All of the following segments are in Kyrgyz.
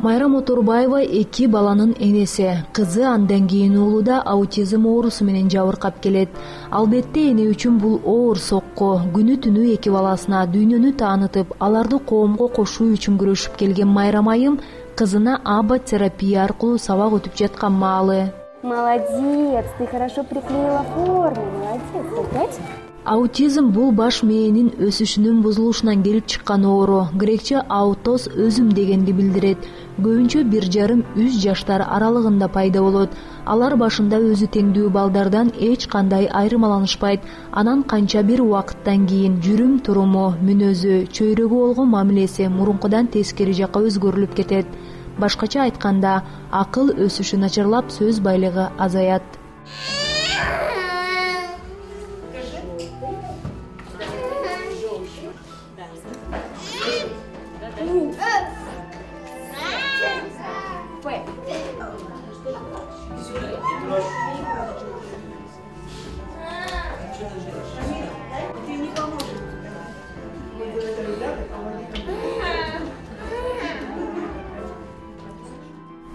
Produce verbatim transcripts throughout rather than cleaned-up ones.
Майрам Отурбаева эки баланын энеси. Кызы андан кийин уулу да аутизм оорусу менен жабыркап келет. Албетте эне үчүн бул оор сокку. Күнү түнү эки баласына дүйнөнү таанытып, аларды коомго кошуу үчүн күрөшүп келген Майрам айым кызына аба терапия аркылуу сабак өтүп жаткан маалы. Молодец, ты хорошо приклеила форму, молодец, опять? Аутизм бул баш мээнин өсүшүнүн бузулушунан келип чыккан оору. Грекче аутоз өзүм дегенди билдирет. Көбүнчө бир жарым үч жаштар аралыгында пайда болот. Алар башында өзү теңдүү балдардан эч кандай айырмаланышпайт. Анан канча бир убакыттан кийин жүрүм туруму, мүнөзү, чөйрөгө болгон мамилеси мурункудан тескери жакка өзгөрүлүп кетет. Башкача айтканда, акыл өсүшү начарлап, сөз байлыгы азаят.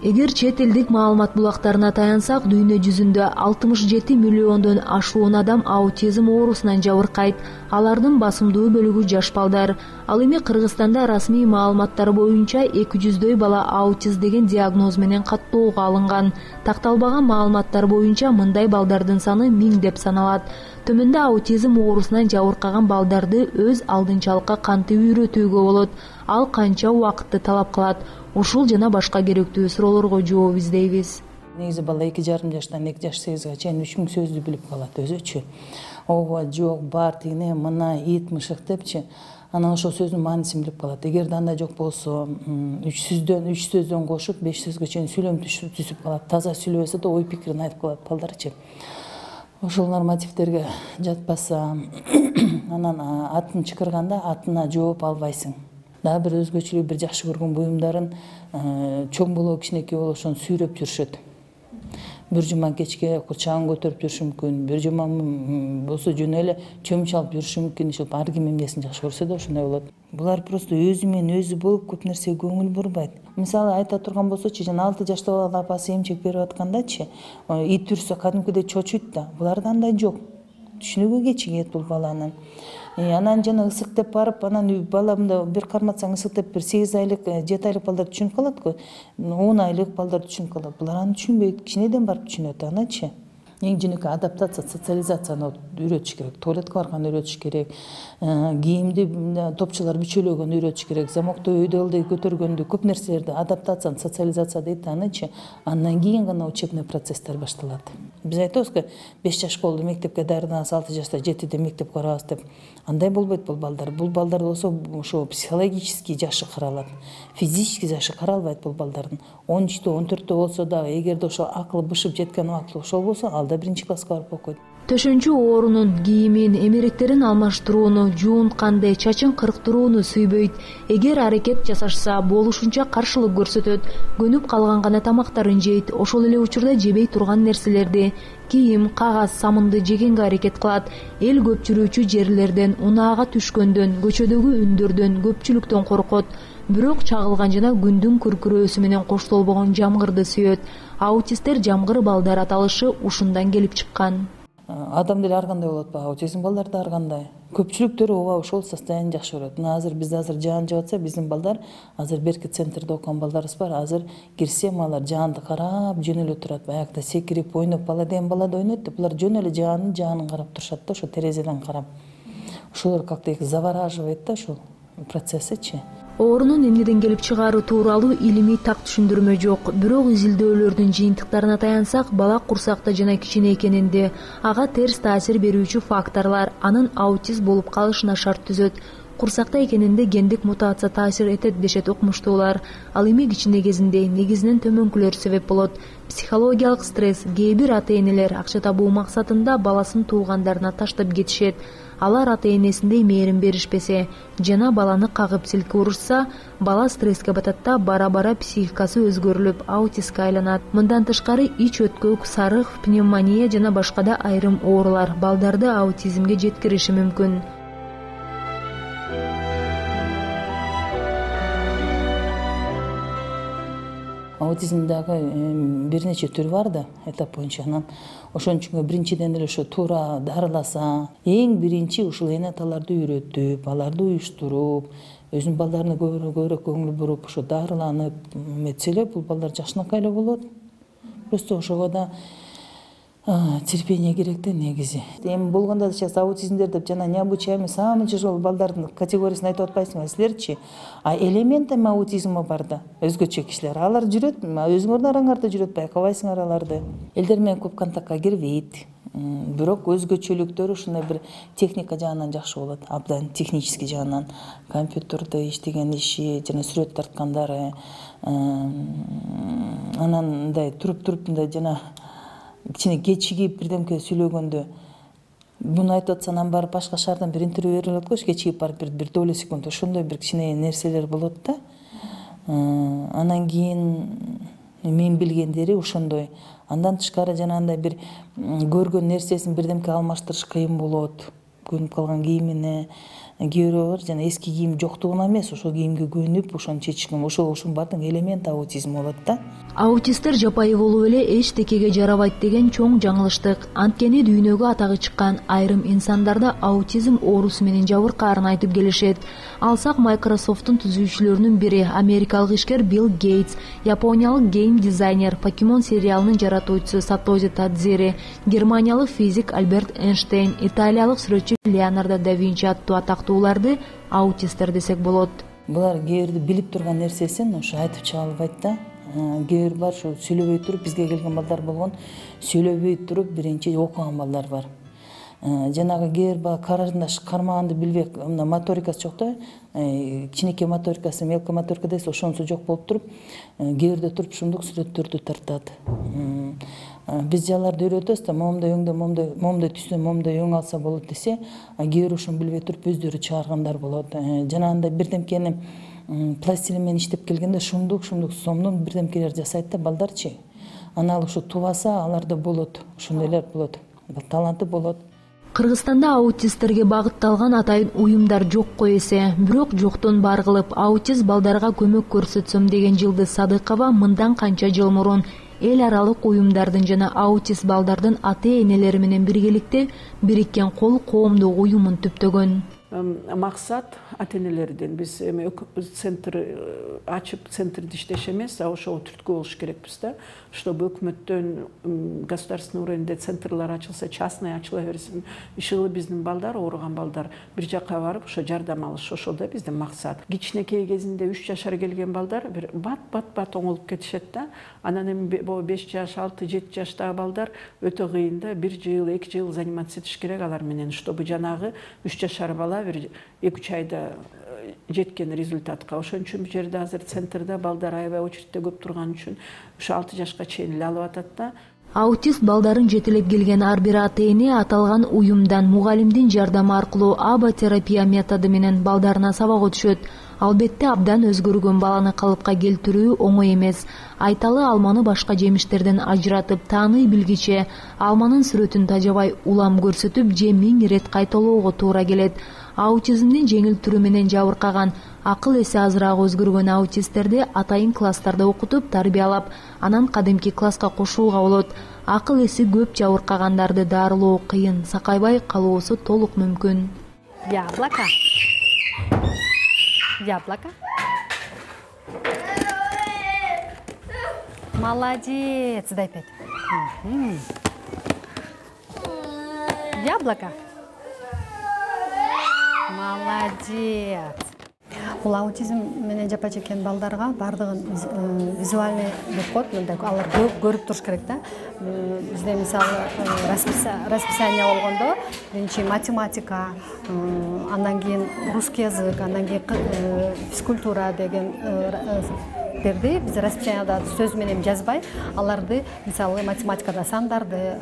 Эгер чет элдик маалымат булактарына таянсак, дүйнө жүзүндө алтымыш жети миллиондон ашуун адам аутизм оорусунан жабыркайт. Алардын басымдуу бөлүгү жаш балдар. Ал эми Кыргызстанда расмий маалыматтар боюнча эки жүздөй бала аутист деген диагноз менен каттоого алынган. Такталбаган маалыматтар боюнча мындай балдардын саны миң деп саналат. Төмөндө аутизм оорусунан жабыркаган балдарды өз алдынчалыкка кантип үйрөтүүгө болот? Ал канча убакытты талап кылат? Ушул жана башка керектүү суроолорго жооп издейбиз. Негизи бала эки жарым жаштан эки жаш сегизге чейин үч миң сөздү билип калат өзүчү. Ооба, жок, бар, тигине, мына, ит, мышык депчи. Анан ошол сөздүн маанисин билип калат. Эгерде андай жок болсо, үч сөздөн үч сөздөн кошуп беш сөзгө чейин сүйлөм түзүп калат. Таза сүйлөбөсө да ой пикирин айтып калат балдарчы. Ошол нормативдерге жатпаса, анан атын чакырганда атына жооп албайсың. Дагы бир өзгөчөлүгү, бир жакшы көргөн буюмдарын чоң болобу, кичинекей болобу ошону сүйрөп жүрүшөт. Бир жума кечке курчагын көтөрүп жүрүшү мүмкүн, бир жума болсо жөн эле чөмүч алып жүрүшү мүмкүн. Ошол ар ким эмнесин жакшы көрсө да ошондой болот. Булар просто өзү менен өзү болуп көп нерсеге көңүл бурбайт. Мисалы айта турган болсочу, жана алты жашта балага апасы эмчек берип аткандачы, ит үрсө кадимкидей чочуйт да. Буларда андай жок. Түшүнүүгө кечигет бул баланын. Анан жана ысык деп барып, анан бала мында бир карматсаң ысык деп бир сегиз айлык, жети айлык балдар түшүнүп калат го. он айлык балдар түшүнүп калат. Булар аны түшүнбөйт, кичинеден барып түшүнөт аначы. Эң жөнөкөй адаптация, социализацияны үйрөтүш керек. Туалетке барганды үйрөтүш керек. Кийимди топчулар бүчөлөгөнү үйрөтүш керек. Замокто өйдө ылдый көтөргөндү, көп нерселерди адаптацияны, социализация дейт аначы. Андан кийин гана учебный процесстер башталат. Биз айтабыз го, беш жаш болду мектепке дарынабыз, алты жашта, жетиде мектеп барабыз деп. Андай болбойт бул балдар. Бул балдар болсо ошо психологический жашы каралат. Физический жашы каралбайт бул балдардын. он үчтө, он төрттө болсо дагы, эгерде ошо акылы бышып жеткен убакыты ошол болсо, ал да биринчи класска барып окуйт. Төшөнчү оорунун кийимин, эмеректерин алмаштырууну, жуунтканды, чачын кырктырууну сүйбөйт. Эгер аракет жасашса, болушунча каршылык көрсөтөт. Көнүп калган гана тамактарын жейт. Ошол эле учурда жебей турган нерселерди, кийим, кагаз, самынды жегенге аракет кылат. Эл көп жүрүүчү жерлерден, унаага түшкөндөн, көчөдөгү үндөрдөн, көпчүлүктөн коркот. Бирок чагылган жана күндүн күркүрөөсү менен коштолбогон жамгырды сүйөт. Аутисттер жамгыр балдар аталышы ушундан келип чыккан. Адам деле ар кандай болот ба, аутизм балдар да ар кандай. Көпчүлүктөрү ооба ошол состояние жакшы көрөт. Мына азыр бизде азыр жаан жаап атса, биздин балдар азыр берки центрде окуган балдарыбыз бар. Азыр кирсем алар жаанды карап жөн эле турат. Баягыда секирип, ойноп, бала деген балада ойнойт деп, булар жөн эле жаанын жаанын карап турушат да, ошо терезеден карап. Ошолор как-то их завораживает да ошол процессичи. Оорунун эмнеден келип чыгаары тууралуу илимий так түшүндүрмө жок. Бирок изилдөөлөрдүн жыйынтыктарына таянсак, бала курсакта жана кичине экенинде, ага терс таасир берүүчү факторлор анын аутист болуп калышына шарт түзөт. Курсакта экенинде гендик мутация таасир этет дешет окумуштуулар. Ал эми кичине кезинде негизинен төмөнкүлөр себеп болот. Психологиялык стресс, кээ бир ата-энелер акча табуу максатында баласын туугандарына таштап кетишет. Алар ата-энесиндей мээрим беришпесе жана баланы кагып силке урушса, бала стресске батат да бара-бара психикасы өзгөрүлүп, аутистке айланат. Мындан тышкары ич өткөк, сарых, пневмония жана башка да айрым оорулар балдарды аутизмге жеткириши мүмкүн. аутизмдагы бир нече түр бар да, этап боюнча. Анан ошон үчүн биринчиден эле ошо туура дарыласа, эң биринчи ушул эне аталарды үйрөтүп, аларды уюштуруп, өзүнүн балдарына көбүрөөк көңүл буруп, ошо дарыланып метселе, бул балдар жакшынакай эле болот. Просто ошого да терпение керек да негизи. Эми болгондо сейчас аутизмдер деп жана необучаемый самый тяжелый балдардын категориясын айтып атпайсыңбы силерчи? А элементами аутизма бар да, өзгөчө кишилер. Алар жүрөт, өзүңөрдүн араңарда жүрөт, байкабайсыңар аларды. Элдер менен көп контактка кирбейт. Бирок өзгөчөлүктөрү ушундай бир техника жагынан жакшы болот, абдан технический жагынан. Компьютерде иштеген иши, жана сүрөт тарткандары, анан мындай туруп-туруп мындай жана кичине кечигип бирдемке сүйлөгөндө буну айтып атса, анан барып башка шаардан бир интервью берип алат го, кечигип барып бир бир доля секунд ошондой бир кичине нерселер болот да. Анан кийин мен билгендери ошондой. Андан тышкары жанагындай бир көргөн нерсесин бирдемке алмаштырыш кыйын болот. Көнүп калган кийимине, кээ бирөө бар жана эски кийим жоктугуна эмес, ошол кийимге көнүп, ошону чечишкен, ошол ушунун баардыгы элемент аутизм болот да. Аутисттер жапайы болуп эле эчтекеге жарабайт деген чоң жаңылыштык. Анткени дүйнөгө атагы чыккан айрым инсандарда аутизм оорусу менен жабыркаарын айтып келишет. Алсак Microsoft'тун түзүүчүлөрүнүн бири америкалык ишкер Билл Гейтс, япониялык гейм дизайнер, Покемон сериалынын жаратуучусу Сатоси Тадзири, германиялык физик Альберт Эйнштейн, италиялык сүрөтчү Леонардо да Винчи аттуу атактууларды аутисттер десек болот. Булар кээ бирди билип турган нерсесин ошо айтып чыга албайт да. Кээ бир бар ушу сүйлөбөй туруп, бизге келген балдар болгон, сүйлөбөй туруп биринчи окуган балдар бар. Жанагы кээ бир бала карандаш кармаганды билбей, мына моторикасы жок да, кичинекей моторикасы, мелко моторика дейсиз, ошонусу жок болуп туруп, кээ бирде туруп ушундук сүрөттөрдү тартат. Биз жаларды үйрөтөбүз да, момундай өңдө, момундай, момундай түстө, момундай өң алса болот десе, кээ бир ошону билбей туруп өздөрү чыгаргандар болот. Жанагындай бирдемкени пластилин менен иштеп келгенде шумдук, шумдук сомдун бирдемкелер жасайт да балдарчы. Анан ушу тубаса, аларда болот, ошондойлор болот, таланты болот. Кыргызстанда аутисттерге багытталган атайын уюмдар жокко эсе, бирок жоктон бар кылып аутист балдарга көмөк көрсөтсөм деген Жылдыз Садыкова мындан канча жыл мурун эл аралык уюмдардын жана аутист балдардын ата-энелери менен биргеликте бириккен кол коомдук уюмун түптөгөн. Максат ата-энелерден биз эми центр ачып центрди иштеш эмес, а ошого түрткү болуш керекпиз да, чтобы өкмөттөн государственный уровеньде центрлар ачылса, частный ачыла берсин, ишыгы биздин балдар, ооруган балдар бир жакка барып ошо жардам алыш, ошол да биздин максат. Кичинекей кезинде үч жашар келген балдар бир бат бат бат оңолуп кетишет да. Анан эми беш жаш, алты, жети жаштагы балдар өтө кыйын да, бир жыл, эки жыл заниматься этиш керек алар менен, чтобы жанагы үч жашар бала бир эки үч айда жеткен результатка. Ошон үчүн бул жерде азыр центрде балдар аябай очередде көп турган үчүн ушу алты жашка чейин эле алып атат да. Аутист балдарын жетелеп келген ар бир ата-эне аталган уюмдан мугалимдин жардамы аркылуу аба терапия методу менен балдарына сабак өтүшөт. Албетте абдан өзгөргөн баланы калыпка келтирүү оңой эмес. Айталы алманы башка жемиштерден ажыратып тааный билгиче алманын сүрөтүн тажабай улам көрсөтүп же миң ирет кайталоого туура келет. Аутизмдин жеңил түрү менен жабыркаган, акыл эси азыраак өзгөргөн аутисттерди атайын класстарда окутуп, тарбиялап, анан кадимки класска кошууга болот. Акыл эси көп жабыркагандарды дарылоо кыйын, сакайбай калуусу толук мүмкүн. Яблоко. Яблоко. Молодец, дай пять. Яблоко. Молодец. Бул аутизм менен жапа чеккен балдарга бардыгын визуальный деп коет, мындай алар көрүп туруш керек да. Бизде мисалы расписание болгондо биринчи математика, андан кийин русский язык, андан кийин физкультура деген берди. Биз расписанияда сөз менен жазбай, аларды мисалы математикада сандарды,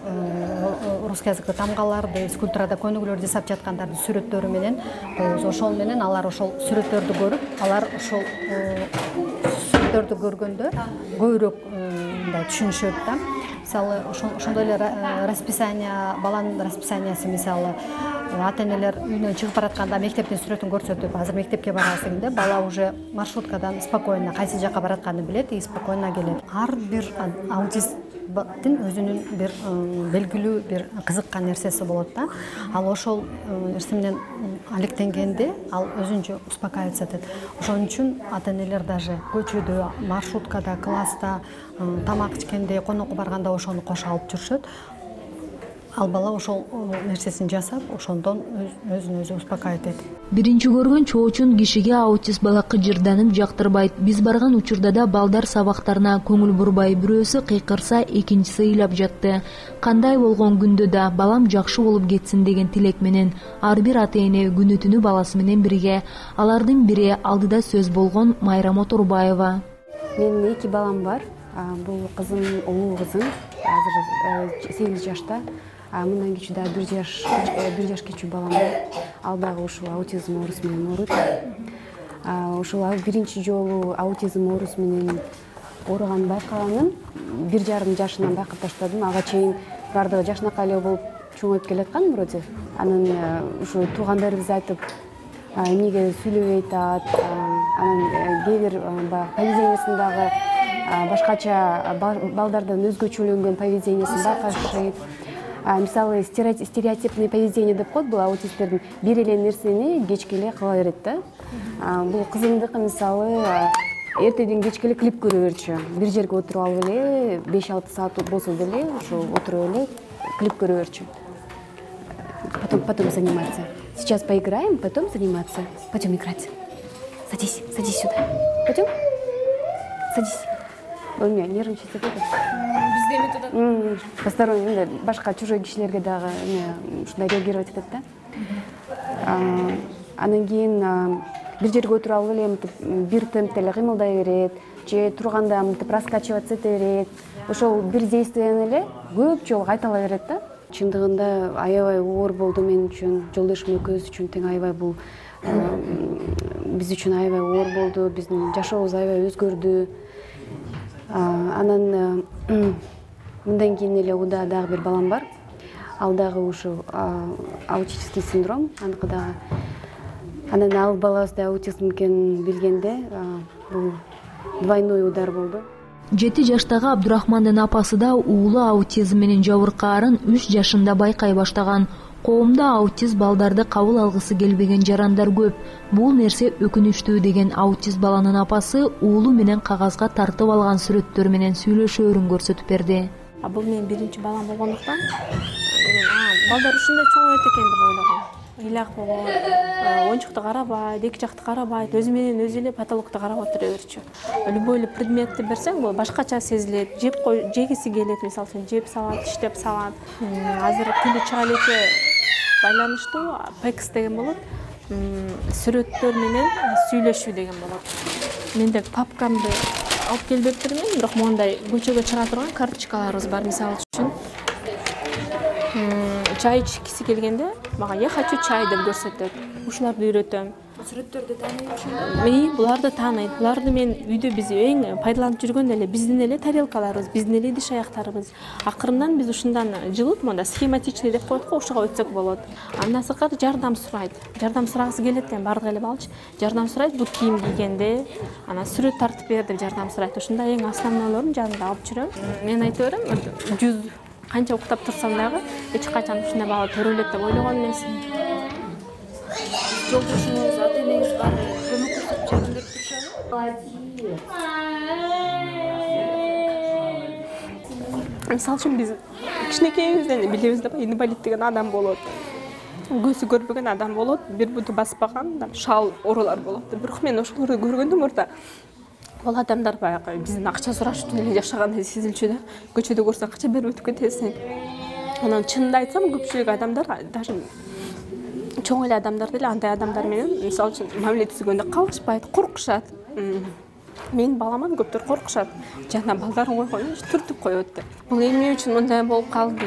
русский языкта тамгаларды, физкультурада көнүгүүлөр жасап жаткандарды сүрөттөрү менен коебуз. Ошол менен алар ошол сүрөттөрдү көрүп, алар ошол сүрөттөрдү көргөндө көбүрөөк мындай түшүнүшөт да. Мисалы ошондой эле расписание, баланын расписаниясы мисалы ата энелер үйүнөн чыгып баратканда мектептин сүрөтүн көрсөтүп, азыр мектепке барасың деп, бала уже маршруткадан спокойно кайсы жака баратканын билет и спокойно келет. Ар бир аутисттин өзүнүн бир белгилүү бир кызыккан нерсеси болот да. Ал ошол нерсе менен алектенгенде ал өзүнчө успокаиваться этет. Ошон үчүн ата энелер даже көчөдө, маршруткада, класста, тамак ичкенде, конокко барганда ошону кошо алып жүрүшөт. Ал бала ошол нерсесин жасап, ошондон өзүн өзү успокаивать этет. Биринчи көргөн чоочун кишиге аутист бала кыжырданып жактырбайт. Биз барган учурда да балдар сабактарына көңүл бурбай, бирөөсү кыйкырса, экинчиси ыйлап жатты. Кандай болгон күндө да балам жакшы болуп кетсин деген тилек менен ар бир ата эне күнү түнү баласы менен бирге. Алардын бири алдыда сөз болгон Майра Моторбаева. Менин эки балам бар. Бул кызым, улуу кызым, азыр сегиз жашта. Мындан кичүү да бир жаш, бир жаш кичүү балам бар. Ал дагы ушул аутизм оорусу менен ооруйт. Ушул биринчи жолу аутизм оорусу менен ооруганын байкаганым бир жарым жашынан байкап баштадым. Ага чейин бардыгы жакшынакай эле болуп чоңоюп келаткан вроде. Анан ушу туугандарыбыз айтып, эмнеге сүйлөбөй атат, анан кээ бир поведениясындагы башкача балдардан өзгөчөлөнгөн поведениясын байкашат. Мисалы стереотипный поведение деп коет, бул аутисттердин бир эле нерсени кечке эле кыла берет да. Бул кызымдыкы мисалы эртеден кечке эле клип көрө берчү. Бир жерге отуруп алып эле беш алты саат болсо деле ошо отуруп эле клип көрө берчү. Потом потом заниматься. Сейчас поиграем, потом заниматься. Пойдем играть. Садись, садись сюда. Пойдем? Садись. Ой, меня нервничать это. Посторонний, башка чужой кишилерге дагы ушундай реагировать этет да. Анан кийин бир жерге отуруп алып эле мынтип бир темпте эле кыймылдай берет, же турганда мынтип раскачиваться эте берет. Ошол бир действияны эле көп жолу кайтала берет да. Чындыгында аябай оор болду мен үчүн, жолдошум экөөбүз үчүн тең аябай бул биз үчүн аябай оор болду, биздин жашообуз аябай өзгөрдү. Анан мындан кийин эле уда дагы бир балам бар. Ал дагы ушул аутический синдром, аныкы дагы. Анан ал балабыз да аутизм экенин билгенде бул двойной удар болду. жети жаштагы Абдурахмандын апасы да уулу аутизм менен жабыркаарын үч жашында байкай баштаган. Коомдо аутист балдарды кабыл алгысы келбеген жарандар көп. Бул нерсе өкүнүчтүү деген аутист баланын апасы уулу менен кагазга тартып алган сүрөттөр менен сүйлөшөөрүн көрсөтүп берди. Бул менин биринчи балам болгондуктан балдар ушундай чоңойот экен деп ойлогом. Ыйлак болот, оюнчукту карабайт, эки жакты карабайт, өзү менен өзү эле потолокту карап отура берчү. Любой эле предметти берсең, бул башкача сезилет, жеп жегиси келет, мисалы үчүн жеп салат, иштеп салат. Азыр тили чыга элекке байланыштуу пекс деген болот. Сүрөттөр менен сүйлөшүү деген болот. Менде папкамды алып келбептирмин, бирок мондай көчөгө чыга турган карточкаларыбыз бар, мисалы үчүн. Чай ичкиси келгенде мага "Я хочу чай" деп көрсөтөт. Ушуларды үйрөтөм. Сүрөттөрдү тааныйт. Мен буларды тааныйт. Буларды мен үйдө биз эң пайдаланып жүргөн эле биздин эле тарелкаларыбыз, биздин эле идиш аяктарыбыз. Акырындан биз ушундан жылып, монда схематичный деп коет го, ошого өтсөк болот. Андан сырткары жардам сурайт. Жардам сурагысы келет экен бардык эле балчы. Жардам сурайт, бут кийим кийгенде, анан сүрөт тартып бер деп жардам сурайт. Ушундай эң основнойлорун жанымда алып жүрөм. Мен айта берем, жүз канча уктап турсам дагы эч качан ушундай бала төрөлөт деп ойлогон эмесмин. Жолдошуңуз, ата энеңиз бар, көмөк көрсөтүп жардам берип турушабы? Мисалы үчүн биз кичинекейибизден билебиз да, инвалид деген адам болот. Көзү көрбөгөн адам болот, бир буту баспаган, шал оорулар болот. Бирок мен ошолорду көргөндө мурда бул адамдар баягы биздин акча сурашып эле жашагандай сезилчү да. Көчөдө көрсөң акча берип өтүп кетесиң. Анан чынын айтсам, көпчүлүк адамдар, даже чоң эле адамдар деле андай адамдар менен мисалы үчүн мамиле түзгөндө калышпайт, коркушат. Мен балама көптөр коркушат. Жана балдарын койгондо түртүп коет да. Бул эмне үчүн мындай болуп калды?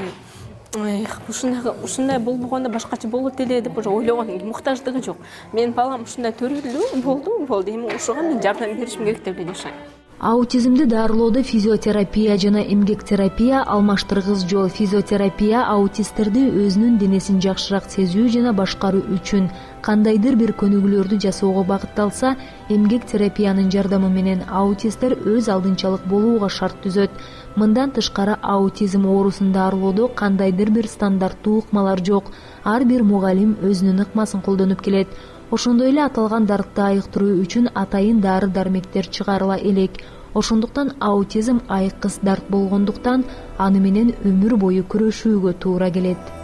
Эх, ушундай ушундай болбогондо башкача болот эле деп уже ойлогон муктаждыгы жок. Менин балам ушундай төрөлдү, болду, болду. Эми ошого мен жардам беришим керек деп эле жашайм. Аутизмди дарылоодо физиотерапия жана эмгек терапия алмаштыргыс жол. Физиотерапия аутисттерди өзүнүн денесин жакшыраак сезүү жана башкаруу үчүн кандайдыр бир көнүгүүлөрдү жасоого багытталса, эмгек терапиянын жардамы менен аутисттер өз алдынчалык болууга шарт түзөт. Мындан тышкары аутизм оорусун дарылоодо кандайдыр бир стандарттуу ыкмалар жок. Ар бир мугалим өзүнүн ыкмасын колдонуп келет. Ошондой эле аталган дартты айыктыруу үчүн атайын дары-дармектер чыгарыла элек. Ошондуктан аутизм айкыс дарт болгондуктан аны менен өмүр бою күрөшүүгө туура келет.